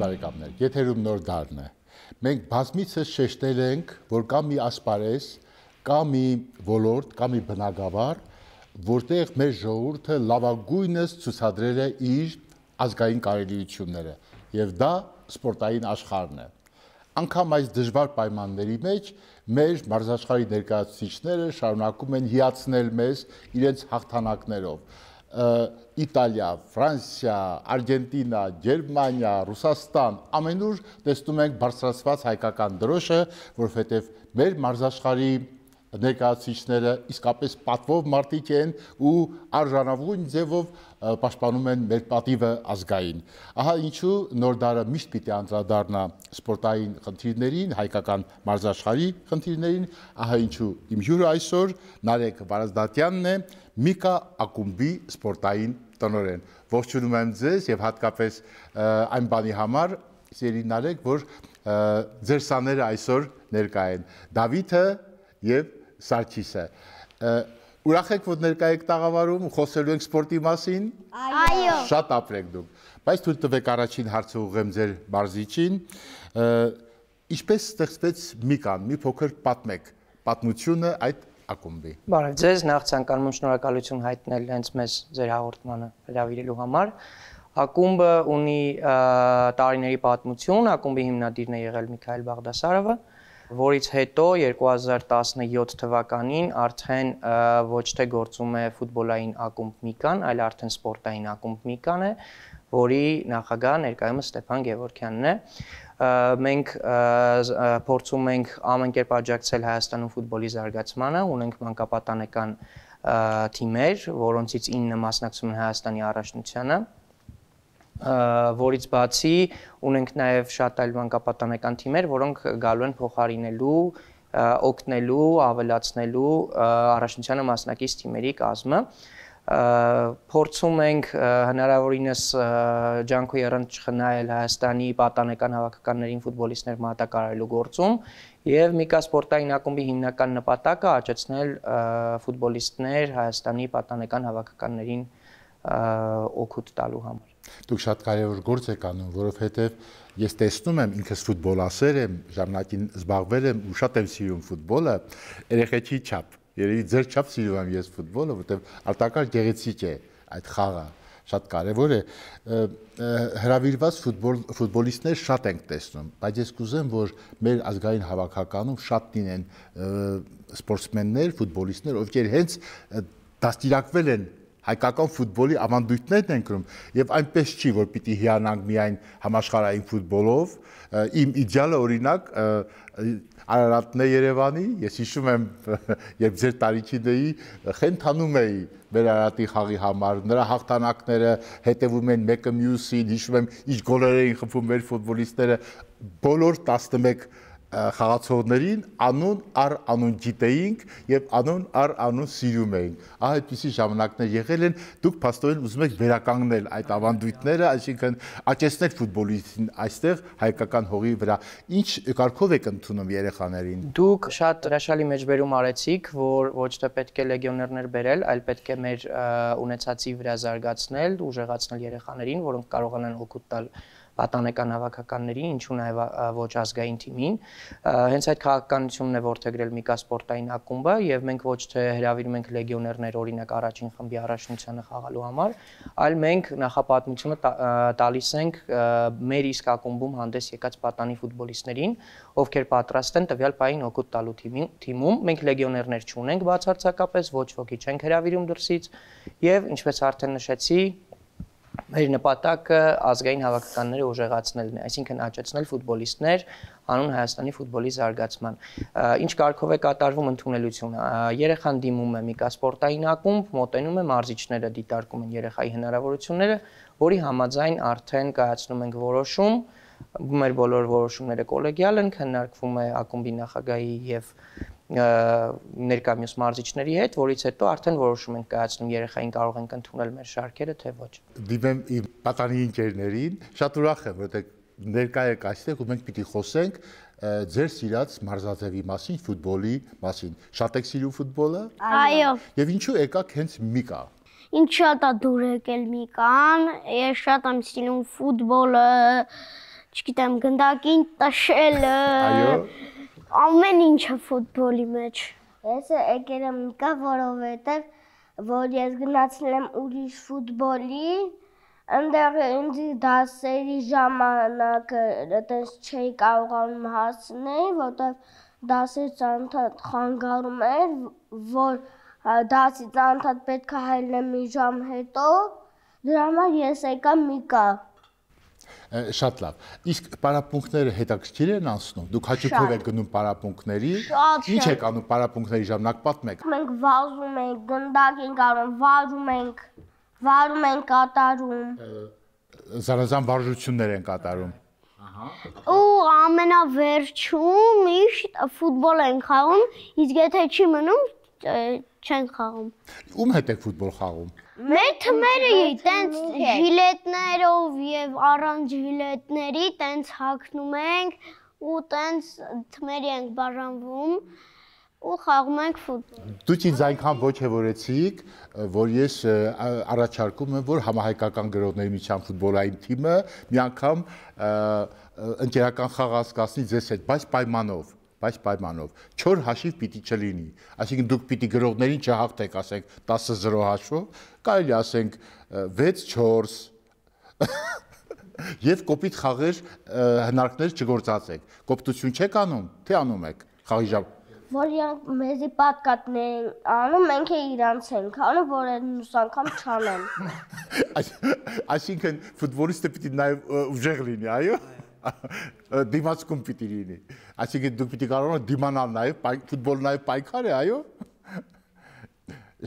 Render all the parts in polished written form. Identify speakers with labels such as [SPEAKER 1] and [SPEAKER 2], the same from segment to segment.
[SPEAKER 1] բարեկամներ, եթերում նոր դարն է։ Մենք բազմիցս շեշտել ենք, որ կա մի ասպարեզ, կա մի ոլորտ, կա մի բնագավառ, որտեղ մեր ժողովուրդը լավագույնս ցուցադրել է իր ազգային կարելիությունները, եւ դա սպորտային աշխարհն է։ Անկամ այս դժվար պայմանների մեջ մեր մարզաշխարհի ներկայացուցիչները շարունակում են հիացնել մեզ իրենց հաղթանակներով։ Իտալիա, Ֆրանսիա, Արգենտինա, Գերմանիա, Ռուսաստան, ամենուր տեսնում ենք բարձրացված հայկական դրոշը, որովհետև մեր մարզաշխարհի ներկայացուցիչները իսկապես պատվով մարդիկ են ու արժանավուն ձևով պաշտպանում են մեր պատիվը ազգային։ Ահա ինչու նոր դարը միշտ պիտի անդրադառնա սպորտային խնդիրներին, հայկական մարզաշխարհի խնդիրներին, ահա ինչու իմ հյուրը այսօր Նարեկ Վարազդատյանն է, Միկա ակումբի սպորտային տնօրեն։ Ողջունում եմ ձեզ եւ հատկապես այն բանի համար, սիրելի Նարեկ, որ ձեր սաները այսօր ներկա են։ Դավիթը եւ Սարգիսը։ Ուրախ եք, որ ներկա եք տաղավարում, խոսելու ենք սպորտի մասին։
[SPEAKER 2] Այո։
[SPEAKER 1] Շատ ապրեք դուք։ Բայց թույլ տվեք առաջին հարցը ուղղեմ ձեր մարզիչին։ Ինչպես ստեղծվեց Միկան, մի փոքր պատմեք պատմությունը այդ ակումբի։
[SPEAKER 3] Բարև ձեզ, նախ ցանկանում եմ շնորհակալություն հայտնել հենց մեզ ձեր հաղորդմանը հրավիրելու համար։ Ակումբը ունի տարիների պատմություն, ակումբի հիմնադիրն է եղել Միքայել Բաղդասարովը, որից հետո 2017 թվականին արդեն ոչ թե գործում է ֆուտբոլային ակումբ Միկան, այլ արդեն սպորտային ակումբ Միկան է, որի նախագահ ներկայումս Ստեփան Գևորգյանն է։ Մենք փորձում ենք ամեն կերպ աջակցել Հայաստանում ֆուտբոլի զարգացմանը, ունենք մանկապատանեկան թիմեր, որոնցից 9 մասնակցում են Հայաստանի առաջնությանը, որից բացի ունենք նաև շատ այլ մանկապատանեկան թիմեր, որոնք գալու են փոխարինելու, օգնելու, ավելացնելու առաջնությանը մասնակից թիմերի կազմը։ Փորձում ենք հնարավորինս ջանքո եռանց չխնայել Հայաստանի պատանեկան հավաքականներին ֆուտբոլիստներ մատակարարելու գործում եւ Միկա սպորտային ակումբի հիմնական նպատակը աճեցնել ֆուտբոլիստներ Հայաստանի պատանեկան հավաքականներին օգուտ տալու համար։
[SPEAKER 1] Դուք շատ կարևոր գործ եք անում, որովհետեւ ես տեսնում եմ ինքս ֆուտբոլասեր եմ, ժամանակին զբաղվել եմ ու շատ եմ սիրում ֆուտբոլը, երեխեքի չափ։ Երևի ձեր չափ սիրում եմ ես ֆուտբոլը, որտեղ արտակարգ գեղեցիկ է այդ խաղը, շատ կարևոր է։ Հրավիրված ֆուտբոլիստներ շատ ենք տեսնում, բայց ես կուզեմ, որ մեր ազգային հավաքականում շատ լինեն սպորտսմեններ, ֆուտբոլիստներ, ովքեր հենց դաստիարակվել են հայկական ֆուտբոլի ավանդույթներն են կրում եւ այնպես չի, որ պիտի հիանանք միայն համաշխարհային ֆուտբոլով։ Իմ իդեալը օրինակ Արարատն է Երևանի, ես հիշում եմ, երբ ձեր տարիքին էի, խենթանում էի մեր Արարատի խաղի համար, նրա հաղթանակները հետևում են մեկը մյուսին, հիշում եմ, ինչ գոլեր էին խփում մեր ֆուտբոլիստները, բոլոր 11 խաղացողներին անուն առ անուն գիտեինք եւ անուն առ անուն սիրում էինք։ Ահա այդպիսի ժամանակներ եղել են, դուք փաստորեն ուզում եք վերականգնել այդ ավանդույթները, այսինքն աճեցնել ֆուտբոլիստին այստեղ հայկական հողի վրա։ Ինչ կարգով եք ընդունում երեխաներին։
[SPEAKER 3] Դուք շատ հրաշալի մեջբերում արեցիք, որ ոչ թե պետք է լեգիոներներ բերել, այլ պետք է մեր ունեցածի վրա զարգացնել, ուժեղացնել երեխաներին, որոնք կարողանան օգուտ տալ պատանեկան հավաքականների, ինչու նաև ոչ ազգային թիմին։ Հենց այդ քաղաքականությունն է որդեգրել Միկա սպորտային ակումբը եւ մենք ոչ թե հրավիրում ենք լեգիոներներ օրինակ առաջին խմբի առաջնությանը խաղալու համար, այլ մենք նախապատմությունը տալիս ենք մեր իսկ ակումբում հանդես եկած պատանի ֆուտբոլիստներին, ովքեր պատրաստ են տվյալ պահին օգուտ տալու թիմում։ Մենք լեգիոներներ չունենք բացարձակապես, ոչ ոքի չենք հրավիրում դրսից եւ ինչպես արդեն նշեցի, մեր նպատակը ազգային հավաքականները ուժեղացնելն է, այսինքն աճեցնել ֆուտբոլիստներ անուն Հայաստանի ֆուտբոլի զարգացման։ Ինչ կարգով է կատարվում ընդունելությունը։ Երեխան դիմում է Միկա սպորտային ակումբ, մոտենում է, մարզիչները դիտարկում են երեխայի հնարավորությունները, որի համաձայն արդեն կայացնում ենք որոշում, մեր բոլոր որոշումները կոլեգիալ են, քննարկվում է ակումբի նախագահի եւ ներկա մյուս մարզիչների հետ, որից հետո արդեն որոշում ենք կայացնում երեխային կարող ենք ընդունել մեր շարքերը, թե ոչ։
[SPEAKER 1] Դիմեմ իմ պատանի ընկերներին, շատ ուրախ եմ, որտեղ ներկա եք այստեղ ու մենք պիտի խոսենք ձեր սիրած մարզաձևի մասին, ֆուտբոլի մասին։ Շատ եք սիրում ֆուտբոլը։
[SPEAKER 2] Այո։
[SPEAKER 1] Եվ ինչու եկաք հենց Միկա։
[SPEAKER 2] Ինչ շատ է դուր եկել Միկան, ես շատ եմ սիրում ֆուտբոլը, չգիտեմ, գնդակին տշելը։
[SPEAKER 1] Այո։
[SPEAKER 2] Ամեն ինչը ֆուտբոլի մեջ։
[SPEAKER 4] Ես եկել եմ իկա, որովհետև որ ես գնացել եմ ուրիշ ֆուտբոլի, այնտեղ ինձ դասերի ժամանակը այդպես չէի կարողանում հասնել, որովհետև դասերից անընդհատ խանգարում էր, որ դասից անընդհատ պետք է հայտնեմ մի ժամ հետո, դրա համար ես եկա միկա։
[SPEAKER 1] Շատ լավ։ Իսկ պարապմունքները հետաքրքիր են անցնում։ Դուք հաճույքով եք գնում պարապմունքների։ Ինչ եք անում պարապմունքների ժամանակ պատմեք։
[SPEAKER 4] Մենք վազում ենք, գնդակ ենք անում, վարում ենք կատարում։
[SPEAKER 1] Զանազան վարժություններ են կատարում։
[SPEAKER 2] Ու ամենավերջում միշտ ֆուտբոլ են խաղում, իսկ եթե չի մնում, չեն խաղում։
[SPEAKER 1] Ում հետ եք ֆուտբոլ խաղում։
[SPEAKER 2] Մեր թմերը տենց ժիլետներով եւ առանց ժիլետների տենց հագնում ենք ու տենց թմերի ենք բաժանվում ու խաղում ենք ֆուտբոլ։
[SPEAKER 1] Դուք ինձ այնքան ոգևորեցիք, որ ես առաջարկում եմ, որ համահայկական գրողների միջան ֆուտբոլային թիմը մի անգամ ընկերական խաղ անցկացնի ձեզ հետ, բայց պայմանով 4 հաշիվ պիտի չլինի, այսինքն դուք պիտի գրողներին չհաղթեք, ասենք 10-0 հաշվով, կարելի ասենք 6-4 եւ կոպիտ խաղեր հնարքներ չգործածեք։ Կոպտություն չեք անում, թե անում եք խաղի ժամ։
[SPEAKER 4] Որ իրանք մեզի պատկատներ են անում, մենք է իրանց ենք անում, որ մյուս անգամ չանեն։
[SPEAKER 1] Այսինքն ֆուտբոլիստը պիտի նաեւ ուժեղ լինի, այո։ Դիմացկուն պիտի լինի։ Այսինքն դուք պիտի կարողանաք դիմանալ նաև, ֆուտբոլը նաև պայքար է, այո։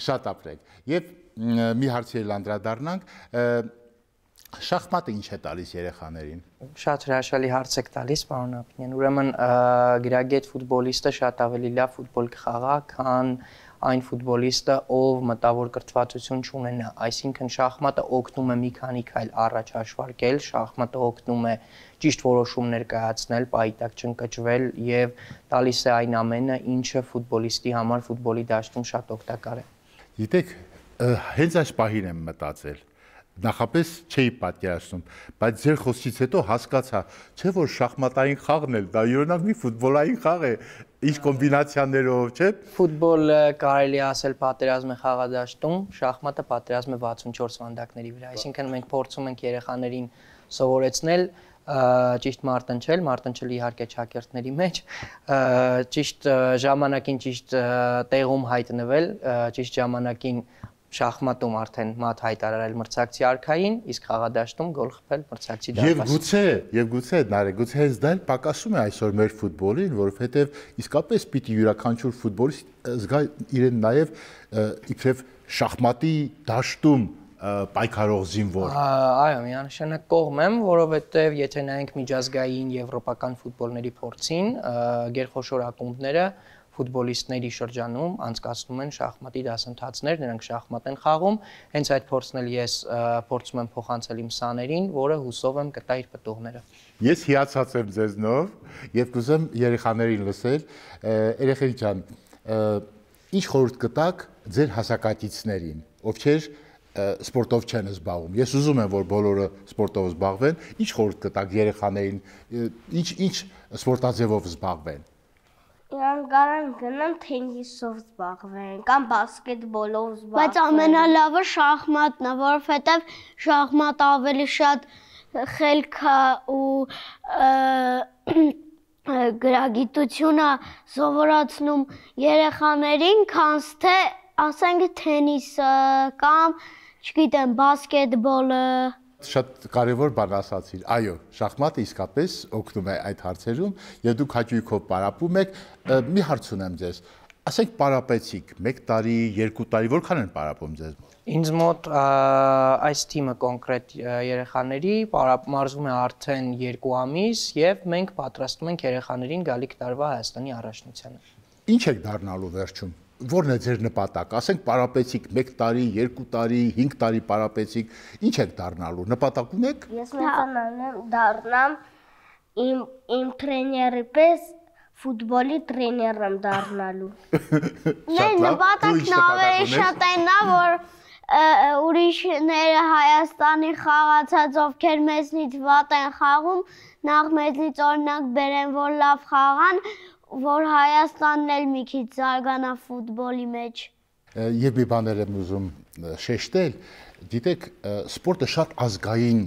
[SPEAKER 1] Շատ ապրեք։ Եվ մի հարցի անդրադառնանք, շախմատը ինչ է տալիս երեխաներին։
[SPEAKER 3] Շատ հրաշալի հարց եք տալիս, պարոն Ապինյան։ Ուրեմն գրագետ ֆուտբոլիստը շատ ավելի լավ ֆուտբոլ կխաղա, քան այն ֆուտբոլիստը, ով մտավոր կրթվածություն չունենա, այսինքն շախմատը օգնում է մի քանի քայլ առաջ հաշվարկել, շախմատը օգնում է ճիշտ որոշումներ կայացնել, պայտակ չընկճվել եւ տալիս է այն ամենը, ինչը ֆուտբոլիստի համար ֆուտբոլի դաշտում շատ օգտակար է։
[SPEAKER 1] Գիտեք, հենց այս պահին եմ մտածել, նախապես չէի պատկերացնում, բայց ձեր խոսքից հետո հասկացա, չէ՞ որ շախմատային խաղն էլ դա յուրօրինակ մի ֆուտբոլային խաղ է, ինչ կոմբինացիաներով, չէ՞։
[SPEAKER 3] Ֆուտբոլը կարելի ասել պատերազմ է խաղադաշտում, շախմատը պատերազմ է 64 վանդակների վրա, այսինքն մենք փորձում ենք երեխաներին սովորեցնել ճիշտ մարտնչել իհարկե ճակերտների մեջ, ճիշտ ժամանակին ճիշտ տեղում հայտնվել, ճիշտ ժամանակին շախմատում արդեն մատ հայտարարել մրցակցի արքային, իսկ խաղադաշտում գոլ խփել մրցակցի դարպաս։
[SPEAKER 1] Եվ գուցե նարե, գուցե հենց դա էլ պակասում է այսօր մեր ֆուտբոլին, որովհետև իսկապես պիտի յուրաքանչյուր ֆուտբոլիստ զգա իրեն նաև իբրև շախմատի դաշտում պայքարող զինվոր։
[SPEAKER 3] Այո, միանշանակ կողմ եմ, որովհետև եթե նայենք միջազգային եվրոպական ֆուտբոլների փորձին, գերխոշոր ակումբները ֆուտբոլիստների շրջանում անցկացնում են շախմատի դասընթացներ, նրանք շախմատ են խաղում, հենց այդ փորձն էլ ես փորձում եմ փոխանցել իմ սաներին, որը հուսով եմ կտա իր պտուղները։
[SPEAKER 1] Ես հիացած եմ ձեզնով եւ կուզեմ երեխաներին լսել, երեխեք ջան, ինչ խորհուրդ կտաք ձեր հասակակիցներին, ովքեր սպորտով չեն զբաղվում։ Ես ուզում եմ, որ բոլորը սպորտով զբաղվեն, ինչ խորհուրդ կտաք երեխաներին, ինչ սպորտաձևով զբաղվեն։
[SPEAKER 4] Իրանք կարան գնան թենիսով զբաղվեն կամ բասկետբոլով զբաղվեն։
[SPEAKER 2] Բայց ամենալավը շախմատն է, որովհետև շախմատը ավելի շատ խելք ու գրագիտություն է սովորացնում երեխաներին, քան թե ասենք թենիսը կամ չգիտեմ բասկետբոլը։
[SPEAKER 1] Շատ կարևոր բան ասացիր։ Այո, շախմատը իսկապես օգնում է այդ հարցերում, եւ դուք հաճույքով պարապում եք։ Մի հարց ունեմ ձեզ։ Ասենք պարապեցիք 1 տարի, 2 տարի, որքան են պարապում ձեզ մոտ։
[SPEAKER 3] Ինձ մոտ այս թիմը կոնկրետ երեխաների մարզվում է արդեն 2 ամիս եւ մենք պատրաստում ենք երեխաներին գալիք տարվա Հայաստանի առաջնությանը։
[SPEAKER 1] Ինչ եք դառնալու վերջում։ Որն է ձեր նպատակ։ Ասենք պարապեցիք 1 տարի, 2 տարի, 5 տարի պարապեցիք, ինչ եք դառնալու։ Նպատակ ունեք։
[SPEAKER 4] Ես մեծանալու դառնամ իմ տրեյների պես ֆուտբոլի տրեյներ եմ դառնալու։
[SPEAKER 2] Մեր նպատակն ավելի շատ այն է, որ ուրիշները Հայաստանի խաղացած, ովքեր մեզնից վատ են խաղում, նախ մեզնից օրինակ բերեն, որ լավ խաղան, որ Հայաստանն էլ մի քիչ զարգանա ֆուտբոլի մեջ։
[SPEAKER 1] Եվ մի բաներ եմ ուզում շեշտել, գիտեք, սպորտը շատ ազգային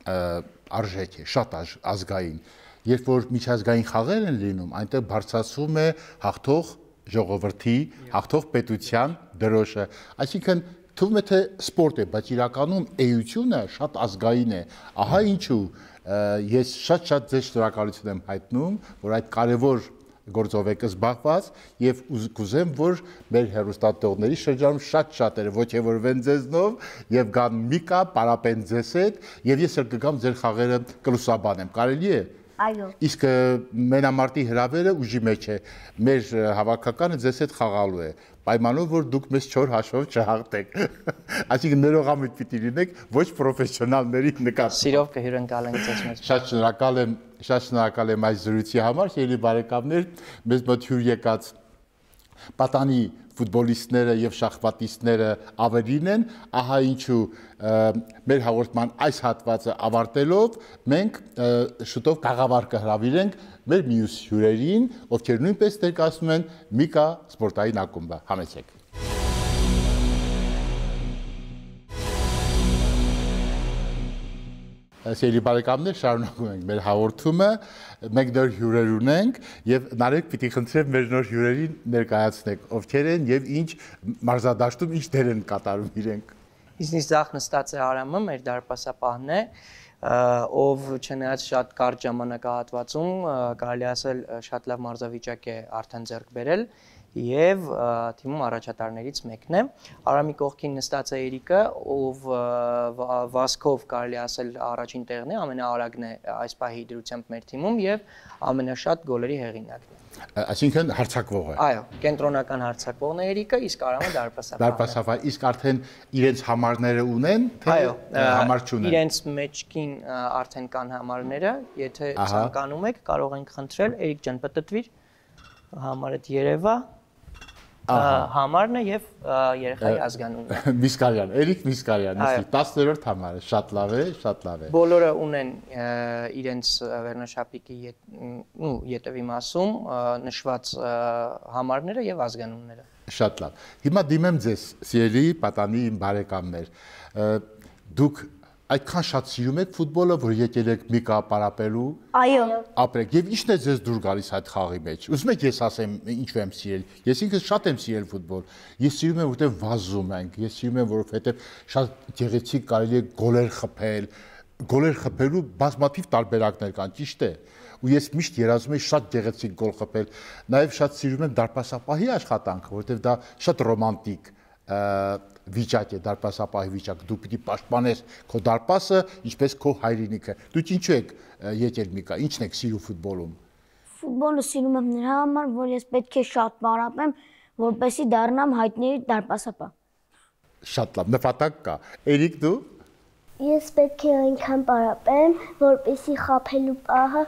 [SPEAKER 1] արժեք է, շատ ազգային։ Երբ որ միջազգային խաղեր են լինում, այնտեղ բարձրացվում է հաղթող ժողովրդի, հաղթող պետության դրոշը։ Այսինքն թվում է թե սպորտ է, բայց իրականում էությունը շատ ազգային է։ Ահա ինչու ես շատ ձեզ շնորհակալություն եմ հայտնում, որ այդ կարևոր գործով եք զբաղված եւ կուզեմ, որ մեր հեռուստատողների շրջանում շատ-շատերը ոգևորվեն ձեզնով եւ գան Միկա, պարապեն ձեզ հետ եւ ես էլ կգամ ձեր խաղերը կլուսաբանեմ։ Կարելի է։
[SPEAKER 4] Այո։
[SPEAKER 1] Իսկ մենամարտի հրավերը ուժի մեջ է։ Մեր հավաքականը ձեզ հետ խաղալու է։ Պայմանով որ դուք մեզ 4 հաշվով չհաղթեք։ Այսինքն ներողամիտ պիտի լինեք ոչ պրոֆեսիոնալների նկատմամբ։
[SPEAKER 3] Սիրով կհյուրընկալենք ձեզ մեզ։
[SPEAKER 1] Շատ շնորհակալ եմ այս զրույցի համար, սիրելի բարեկամներ, մեզ մոտ հյուր եկած պատանի ֆուտբոլիստները եւ շախմատիստները ավելին են, ահա ինչու մեր հաղորդման այս հատվածը ավարտելով մենք շուտով կաղավար կհրավիրենք մեր մյուս հյուրերին, ովքեր նույնպես ներկայացնում են Միկա սպորտային ակումբը։ Համեցեք։ Սիրելի բարեկամներ, շարունակում ենք մեր հաղորդումը, մենք նոր հյուրեր ունենք եւ Նարեկ պիտի խնդրեմ մեր նոր հյուրերին ներկայացնեք, ովքեր են եւ ինչ մարզադաշտում ինչ դեր են կատարում իրենք։
[SPEAKER 3] Իզնից ձախ նստած է Արամը, մեր դարպասապահն է, ով չնայած շատ կարճ ժամանակահատվածում կարելի ասել շատ լավ մարզավիճակ է արդեն ձեռք բերել եւ թիմում առաջատարներից մեկն է։ Արամի կողքին նստած է Էրիկը, ով վազքով կարելի ասել առաջին տեղն է, ամենաարագն է այս պահի դրությամբ մեր թիմում եւ ամենաշատ գոլերի հեղինակն է։
[SPEAKER 1] Այսինքն հարձակվող է։
[SPEAKER 3] Այո, կենտրոնական հարձակվողն է Էրիկը, իսկ Արամը դարպասապահն է։
[SPEAKER 1] Դարպասապահ, իսկ արդեն իրենց համարները ունեն, թե համար չունեն։
[SPEAKER 3] Իրենց մեջքին արդեն կան համարները, եթե ցանկանում եք, կարող ենք խնդրել Էրիկ ջան, պտտվիր, համարդ երևա համարն է եւ երեխայի ազգանունը։
[SPEAKER 1] Միսկարյան, Էրիկ Միսկարյան, 10-րդ համարը, շատ լավ է, շատ լավ է։
[SPEAKER 3] Բոլորը ունեն իրենց վերնաշապիկի ետևի մասում նշված համարները եւ ազգանունները։
[SPEAKER 1] Շատ լավ։ Հիմա դիմեմ ձեզ, սիրելի պատանի բարեկամներ։ Դուք այդքան շատ սիրում եք ֆուտբոլը, որ եկել եք Միկա պարապելու։
[SPEAKER 2] Այո։
[SPEAKER 1] Ապրեք, եւ ի՞նչն է ձեզ դուր գալիս այդ խաղի մեջ։ Ուզում եք ես ասեմ ինչու եմ սիրել։ Ես ինքս շատ եմ սիրել ֆուտբոլ։ Ես սիրում եմ, որտեղ վազում ենք։ Ես սիրում եմ, որովհետեւ շատ գեղեցիկ կարելի է գոլեր խփել։ Գոլեր խփելու բազմաթիվ տարբերակներ կան, ճիշտ է։ Ու ես միշտ երազում եմ շատ գեղեցիկ գոլ խփել։ Նաեւ շատ սիրում եմ դարպասապահի աշխատանքը, որովհետեւ դա շատ ռոմանտիկ վիճակ է, դարպասապահի վիճակ, դու պիտի պաշտպանես քո դարպասը, ինչպես քո հայրենիքը։ Դուք ինչու եք եկել Միկա, ինչն եք սիրում ֆուտբոլում։
[SPEAKER 2] Ֆուտբոլը սիրում եմ նրա համար, որ ես պետք է շատ պարապեմ, որպեսզի դառնամ հայտնի դարպասապահ։
[SPEAKER 1] Շատ լավ, նպատակ կա։ Էրիկ դու։
[SPEAKER 4] Ես պետք է այնքան պարապեմ, որպեսզի խաբելու պահը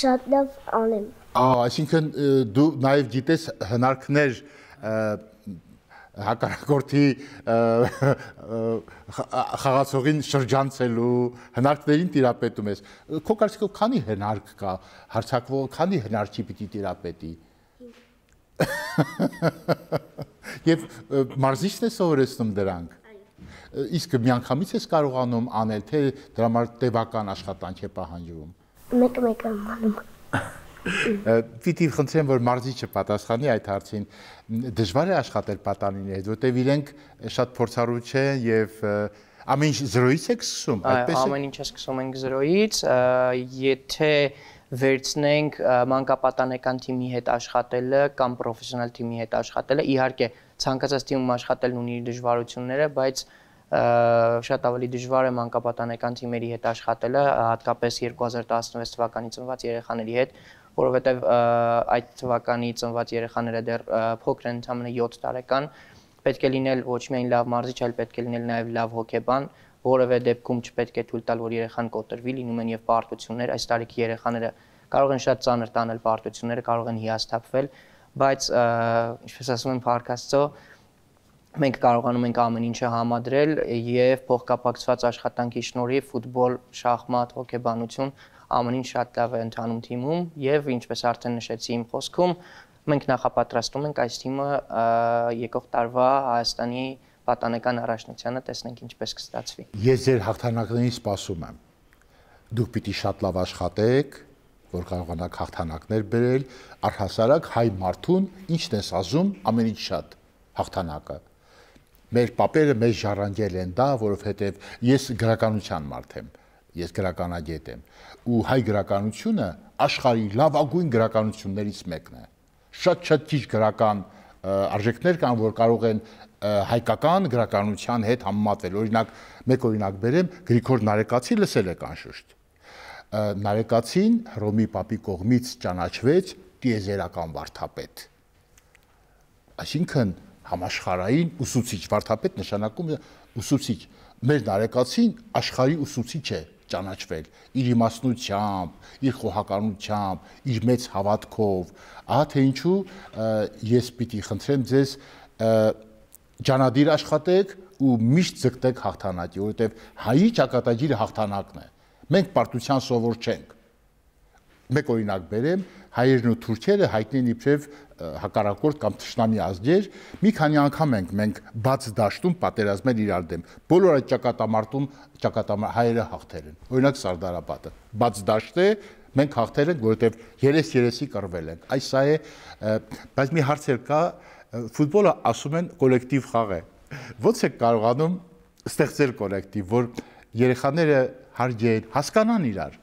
[SPEAKER 4] շատ լավ անեմ։
[SPEAKER 1] Այսինքն դու նաև գիտես հնարքներ հակառակորդի խաղացողին շրջանցելու հնարքներին տիրապետում ես։ Քո կարծիքով քանի հնարք կա, հարձակվող քանի հնարքի պիտի տիրապետի։ Եվ մարզիչն է սովորեցնում դրանք։ Իսկ միանգամից ես կարողանում անել, թե դրա համար տևական աշխատանք է պահանջվում։
[SPEAKER 4] Մեկ-մեկ եմ անում։
[SPEAKER 1] Պիտի խնդրեմ, որ մարզիչը պատասխանի այդ հարցին։ Դժվար է աշխատել պատանիների հետ, որտեղ իրենք շատ փորձառու չեն եւ ամեն ինչ զրոյից եք սկսում, այդպես է։
[SPEAKER 3] Ամեն ինչը սկսում ենք զրոյից, եթե վերցնենք մանկապատանեկան թիմի հետ աշխատելը կամ պրոֆեսիոնալ թիմի հետ աշխատելը, իհարկե ցանկացած թիմում աշխատելն ունի իր դժվարությունները, բայց շատ ավելի դժվար է մանկապատանեկան թիմերի հետ աշխատելը, հատկապես 2016 թվականի ծնված երեխաների հետ, որովհետև այդ թվականի ծնված երեխաները դեռ փոքր են, ընդամենը 7 տարեկան, պետք է լինել ոչ միայն լավ մարզիչ, այլ պետք է լինել նաև լավ հոգեբան, որևէ դեպքում չպետք է թույլ տալ, որ երեխան կոտրվի, լինում են եւ պարտություններ, այս տարիքի երեխաները կարող են շատ ծանր տանել պարտությունները, կարող են հիասթափվել, բայց ինչպես ասում են Փառք Աստծո, մենք կարողանում ենք ամեն ինչը համադրել եւ փոխկապակցված աշխատանքի շնորհիվ ֆուտբոլ, շախմատ, հոկեբանություն ամեն ինչ շատ լավ է ընթանում թիմում եւ ինչպես արդեն նշեցի իմ խոսքում մենք նախապատրաստում ենք այս թիմը եկող տարվա Հայաստանի պատանեկան առաջնությանը տեսնենք ինչպես կստացվի։
[SPEAKER 1] Ես ձեր հաղթանակներին սպասում եմ։ Դուք պիտի շատ լավ աշխատեք, որ կարողանաք հաղթանակներ բերել, առհասարակ հայ մարդուն ինչն ես ասում, ամեն ինչ շատ հաղթանակը։ Մեր պապերը մեզ ժառանգել են դա, որովհետև ես գրականության մարդ եմ, ես գրականագետ եմ, ու հայ գրականությունը աշխարհի լավագույն գրականություններից մեկն է։ Շատ ճիշտ գրական արժեքներ կան, որ կարող են հայկական գրականության հետ համեմատվել։ Օրինակ, մեկ օրինակ բերեմ, Գրիգոր Նարեկացի լսել եք անշուշտ։ Նարեկացին Հռոմի պապի կողմից ճանաչվեց տիեզերական վարդապետ։ Այսինքն համաշխարհային ուսուցիչ, վարդապետ նշանակում է ուսուցիչ։ Մեր Նարեկացին աշխարհի ուսուցիչ է ճանաչվել իր իմաստնությամբ, իր խոհականությամբ, իր մեծ հավատքով։ Ահա թե ինչու ես պիտի խնդրեմ ձեզ ջանադիր աշխատեք ու միշտ ձգտեք հաղթանակի, որովհետև հայի ճակատագիրը հաղթանակն է։ Մենք պարտության սովոր չենք։ Մեկ օրինակ բերեմ, հայերն ու թուրքերը հայտնի են իբրև հակառակորդ կամ թշնամի ազգեր, մի քանի անգամ ենք մենք բաց դաշտում պատերազմել իրար դեմ։ Բոլոր այդ ճակատամար հայերը հաղթել են։ Օրինակ Սարդարապատը բաց դաշտ է, մենք հաղթել ենք, որովհետև 3-3-ի կռվել ենք։ Այս սա է, բայց մի հարց կա, ֆուտբոլը ասում են կոլեկտիվ խաղ է։ Ո՞նց է կարողանում ստեղծել կոլեկտիվ, որ երեխաները հարգեն, հասկանան իրար։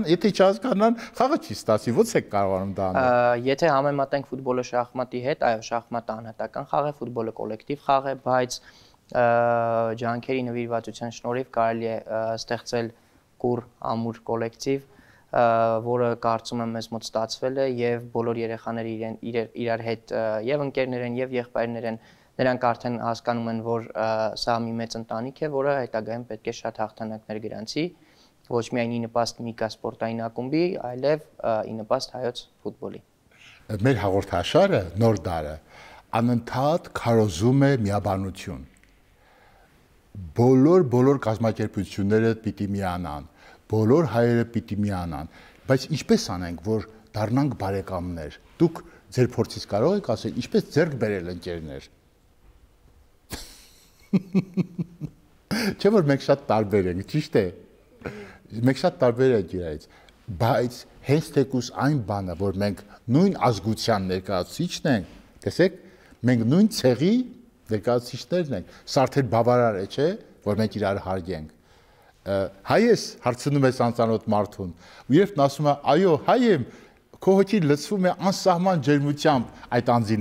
[SPEAKER 1] Եթե չհասկանան, խաղը չի ստացի, ո՞նց է կարողանում դա անել։
[SPEAKER 3] Եթե համեմատենք ֆուտբոլը շախմատի հետ, այո, շախմատը անհատական խաղ է, ֆուտբոլը կոլեկտիվ խաղ է, բայց ջանքերի նվիրվածության շնորհիվ կարելի է ստեղծել կուռ ամուր կոլեկտիվ, որը կարծում եմ մեզ մոտ ստացվել է եւ բոլոր երեխաները իրար հետ եւ ընկերներ են եւ եղբայրներ են, նրանք արդեն հասկանում են, որ սա մի մեծ ընտանիք է, որը հետագայում պետք է շատ հաղթանակներ գրանցի, ոչ միայն ի նպաստ Միկա սպորտային ակումբի, այլև ի նպաստ հայոց ֆուտբոլի։
[SPEAKER 1] Մեր հաղորդաշարը նոր դարը անընդհատ քարոզում է միաբանություն։ Բոլոր կազմակերպությունները պիտի միանան, բոլոր հայերը պիտի միանան, բայց ինչպես անենք, որ դառնանք բարեկամներ։ Դուք ձեր փորձից կարող եք ասել, ինչպես ձեռք բերել ընկերներ։ Չէ՞ որ մենք շատ տարբեր ենք, ճիշտ է։ Մենք շատ տարբեր ենք իրարից, բայց հենց թեկուզ այն բանը, որ մենք նույն ազգության ներկայացուցիչն ենք, տեսեք, մենք նույն ցեղի ներկայացուցիչներն ենք, սա արդեն բավարար է, չէ՞, որ մենք իրար հարգենք։ Հայ ես հարցնում ես անծանոթ մարդուն, ու երբ նա ասում է, այո, հայ եմ, քո հոգին լցվում է անսահման ջերմությամբ այդ անձի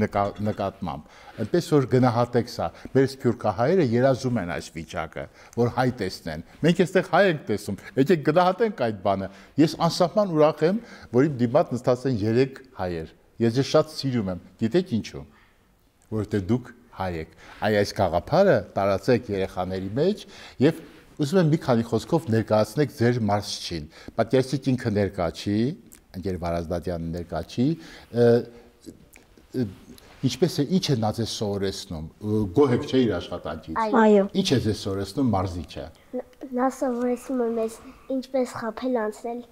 [SPEAKER 1] նկատմամբ։ Այնպես որ գնահատեք սա։ Մեր սփյուռքահայերը երազում են այս վիճակը, որ հայ տեսնեն։ Մենք այստեղ հայ ենք տեսում։ Եկեք գնահատենք այդ բանը։ Ես անսահման ուրախ եմ, որ իմ դիմաց նստած են 3 հայեր։ Ես ձեզ շատ սիրում եմ։ Գիտեք ինչու՞։ Որովհետև դուք հայ եք։ Այս գաղափարը տարածեք երեխաների մեջ եւ ուզում եմ մի քանի խոսքով ներկայացնեք ձեր մարզչին։ Պատկերացրեք ինքը ներկա չի, ընկեր Վարազդատյանը ներկա չի, ինչպես է, ինչ է նա ձեզ սովորեցնում, գոհ եք չէ իր աշխատանքից։
[SPEAKER 4] Այո։
[SPEAKER 1] Ինչ է ձեզ սովորեցնում մարզիչը։
[SPEAKER 4] Նա սովորեցնում է մեզ ինչպես խաբել անցնել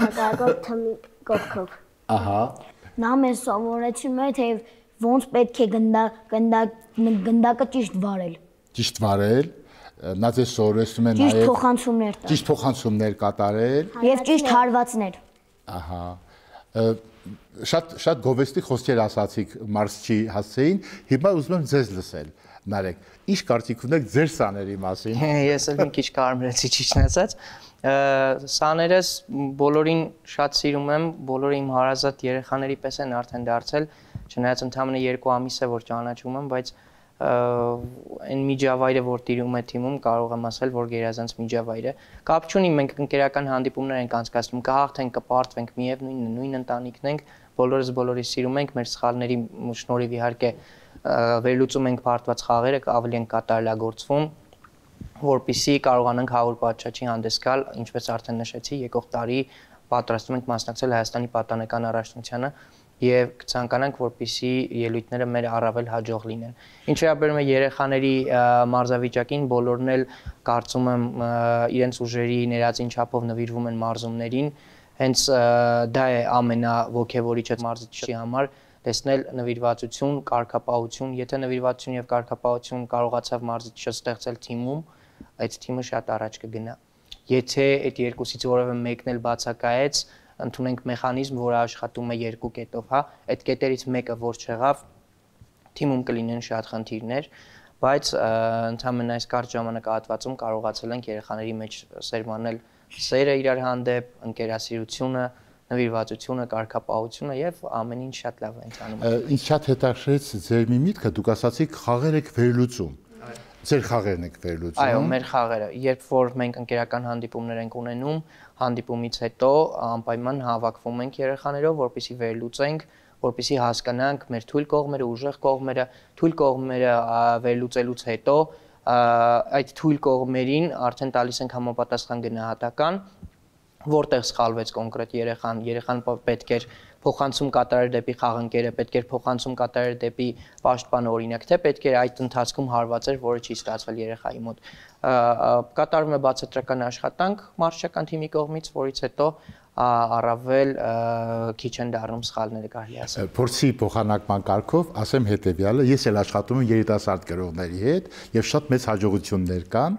[SPEAKER 4] հակառակորդ թիմի կողքով։
[SPEAKER 1] Ահա։
[SPEAKER 2] Նա մեզ սովորեցնում է, թե ոնց պետք է գնդակը ճիշտ վարել։
[SPEAKER 1] Ճիշտ վարել, նա ձեզ սովորեցնում է
[SPEAKER 2] Ճիշտ
[SPEAKER 1] նաև
[SPEAKER 2] փոխանցումներ տալ։
[SPEAKER 1] ճիշտ փոխանցումներ կատարել։
[SPEAKER 2] Եվ ճիշտ հարվածներ։
[SPEAKER 1] Ահա։ Շատ գովեստի խոսքեր ասացիք մարզչի հասցեին, հիմա ուզում եմ ձեզ լսել, Նարեկ, ինչ կարծիք ունեք ձեր սաների մասին։
[SPEAKER 3] Ես էլ մի քիչ կարմրեցի ճիշտն ասած, սաներս բոլորին շատ սիրում եմ, բոլորը իմ հարազատ երեխաների պես են արդեն դարձել, չնայած ընդամենը 2 ամիս է որ ճանաչում եմ, բայց այն միջավայրը, որ տիրում է թիմում, կարող եմ ասել, որ գերազանց միջավայր է։ Կապ չունի, մենք ընկերական հանդիպումներ ենք անցկացնում, կհաղթենք, կպարտվենք, միևնույնն է, նույն ընտանիքն ենք, բոլորս բոլորի սիրում ենք, մեր սխալների շնորհիվ իհարկե վերլուծում ենք պարտված խաղերը, ավելի են կատարելագործվում, որպեսզի կարողանանք 100 պատշաճի հանդես գալ, ինչպես արդեն նշեցի, եկող տարի պատրաստում ենք մասնակցել Հայաստանի պատանեկան առաջնությանը, եւ կցանկանանք, որպեսզի ելույթները մեր առավել հաջող լինեն։ Ինչ վերաբերում է երեխաների մարզավիճակին, բոլորն էլ կարծում եմ իրենց ուժերի ներածին չափով նվիրվում են մարզումներին, հենց դա է ամենաոգևորիչը մարզիչի համար, տեսնել նվիրվածություն, կարգապահություն, եթե նվիրվածություն եւ կարգապահություն կարողացավ մարզիչը ստեղծել թիմում, այդ թիմը շատ առաջ կգնա։ Եթե այդ երկուսից որևէ մեկն էլ բացակայեց, ընդունենք մեխանիզմ, որը աշխատում է երկու կետով, հա, այդ կետերից մեկը որ չեղավ, թիմում կլինեն շատ խնդիրներ, բայց ընդհանրապես այս կարճ ժամանակահատվածում կարողացել ենք երեխաների մեջ սերմանել սերը իրար հանդեպ, ընկերասիրությունը, նվիրվածությունը, կարգապահությունը եւ ամեն ինչ շատ լավ է ընթանում։
[SPEAKER 1] Ինձ շատ հետաքրքրեց ձեր մի միտքը, դուք ասացիք խաղեր եք վերլուծում։ Ձեր խաղերն եք վերլուծում։
[SPEAKER 3] Այո, մեր խաղերը, երբ որ մենք ընկերական հանդիպումներ ենք ունենում, հանդիպումից հետո անպայման հավաքվում ենք երեխաներով, որպեսզի վերլուծենք, որպեսզի հասկանանք մեր թույլ կողմերը, ուժեղ կողմերը, թույլ կողմերը վերլուծելուց հետո այդ թույլ կողմերին արդեն տալիս ենք համապատասխան գնահատական, որտեղ սխալվեց կոնկրետ երեխան պետք էր փոխանցում կատարել դեպի խաղընկերը, պետք էր փոխանցում կատարել դեպի պաշտպանը օրինակ, թե պետք էր այդ ընթացքում հարվածեր, որը չի ստացվել երեխայի մոտ։ Կատարվում է բացատրական աշխատանք մարզչական թիմի կողմից, որից հետո առավել քիչ են դառնում սխալները, կարելի ասել։
[SPEAKER 1] Փորձի փոխանակման կարգով ասեմ հետեւյալը, ես էլ աշխատում եմ երիտասարդ գրողների հետ եւ շատ մեծ հաջողություններ կան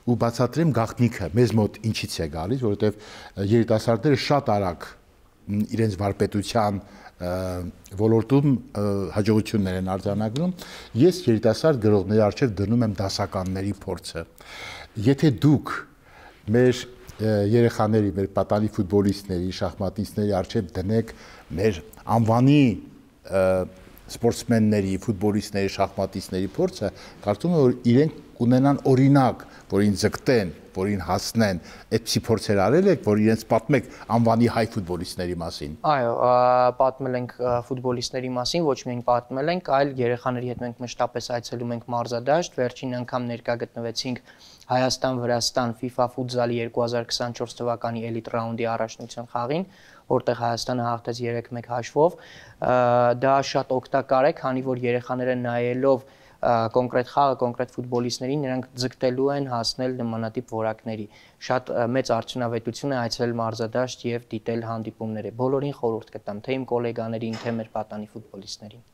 [SPEAKER 1] ու բացատրեմ գաղտնիքը մեզ մոտ ինչից է գալիս, որովհետեւ երիտասարդները շատ արագ իրենց վարպետության ոլորտում հաջողություններ են արձանագրում։ Ես երիտասարդ գրողների առջև դնում եմ դասականների փորձը։ Եթե դուք մեր երեխաների, մեր պատանի ֆուտբոլիստների, շախմատիստների առջև դնեք մեր անվանի սպորտսմենների, ֆուտբոլիստների, շախմատիստների փորձը, կարծում եմ, որ իրենք կունենան օրինակ, որին ձգտեն, որին հասնեն, այդպիսի փորձեր արել եք, որ իրենց պատմեք անվանի հայ ֆուտբոլիստների մասին։
[SPEAKER 3] Այո, պատմել ենք ֆուտբոլիստների մասին, ոչ միայն պատմել ենք, այլ երեխաների հետ մենք մշտապես այցելում ենք մարզադաշտ, վերջին անգամ ներկա գտնվեցինք Հայաստան-Վրաստան FIFA ֆուտզալի 2024 թվականի էլիտ ռաունդի առաջնության խաղին, որտեղ Հայաստանը հաղթեց 3-1 հաշվով։ Դա շատ օգտակար է, քանի որ երեխաները նայելով կոնկրետ խաղը, կոնկրետ ֆուտբոլիստներին, նրանք ձգտելու են հասնել նմանատիպ որակների։ Շատ մեծ արդյունավետություն է այցելել մարզադաշտ եւ դիտել հանդիպումները։ Բոլորին խորհուրդ կտամ, թե իմ գոլեգաներին, թե մեր պատանի ֆուտբոլիստներին։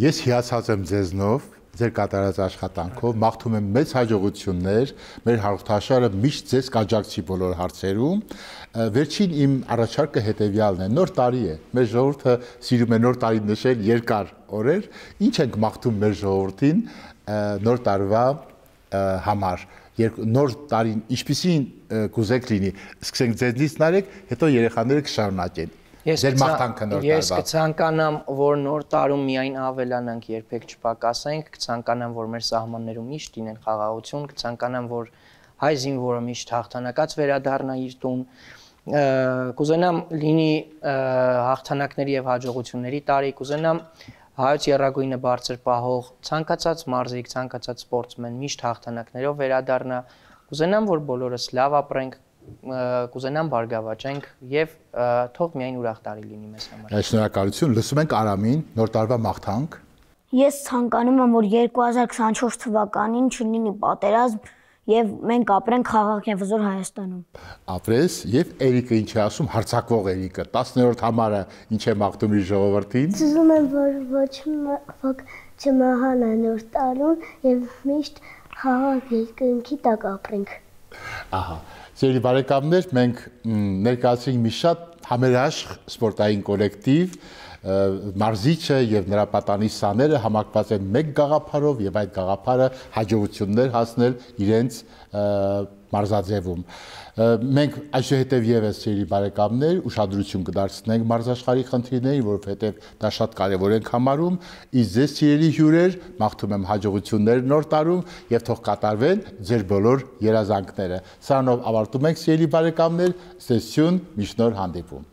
[SPEAKER 1] Ես հիացած եմ ձեզնով, ձեր կատարած աշխատանքով, մաղթում եմ մեծ հաջողություններ, մեր հաղորդաշարը միշտ ձեզ կաջակցի բոլոր հարցերում։ Վերջին իմ առաջարկը հետևյալն է, նոր տարի է, մեր ժողովուրդը սիրում է նոր տարի նշել երկար օրեր, ինչ ենք մաղթում մեր ժողովրդին նոր տարվա համար, նոր տարին ինչպիսին կուզեք լինի, սկսենք ձեզնից նայեք, հետո երեխաները կշարունակեն։ Ձեր մաղթանքը նոր տարվա։
[SPEAKER 3] Ես կցանկանամ, որ նոր տարում միայն ավելանանք, երբեք չպակասենք, կցանկանամ, որ մեր սահմաններում միշտ լինեն խաղաղություն, կցանկանամ, որ հայ զինվորը միշտ հաղթանակած վերադառնա իր տուն, կուզենամ լինի հաղթանակների եւ հաջողությունների տարի, կուզենամ հայոց եռագույնը բարձր պահող ցանկացած մարզիկ, ցանկացած սպորտսմեն միշտ հաղթանակներով վերադառնա, կուզենամ, որ բոլորս լավ ապրենք, կուզենամ բարգավաճենք եւ թող միայն ուրախ տարի լինի մեզ համար։
[SPEAKER 1] Շնորհակալություն, լսում ենք Արամին, նոր տարվա մաղթանք։
[SPEAKER 2] Ես ցանկանում եմ, որ 2024 թվականին չլինի պատերազմ եւ մենք ապրենք խաղաղ եւ հզոր Հայաստանում։
[SPEAKER 1] Ապրես եւ Էրիկը ինչ է ասում, հարցակվող Էրիկը 10-րդ համարը ինչ է մաղթում իր ժողովրդին։
[SPEAKER 4] Ուզում եմ, որ ոչ ոք չմահանա նոր տարուն եւ միշտ խաղաղ երկնքի տակ ապրենք։
[SPEAKER 1] Ահա, սիրելի բարեկամներ, մենք ներկայացրինք մի շատ համերաշխ սպորտային կոլեկտիվ, մարզիչը եւ նրա պատանի սաները համակված են մեկ գաղափարով եւ այդ գաղափարը հաջողություններ հասնել իրենց մարզաձևում։ Մենք այսուհետև եւս սիրելի բարեկամներ ուշադրություն կդարձնենք մարզաշխարհի խնդիրներին, որովհետեւ դա շատ կարեւոր ենք համարում։ Իսկ ձեզ սիրելի հյուրեր, մաղթում եմ հաջողություններ նոր տարում եւ թող կատարվեն ձեր բոլոր երազանքները։ Սրանով ավարտում ենք սիրելի բարեկամներ, սեսիոն միշտ նոր հանդիպում։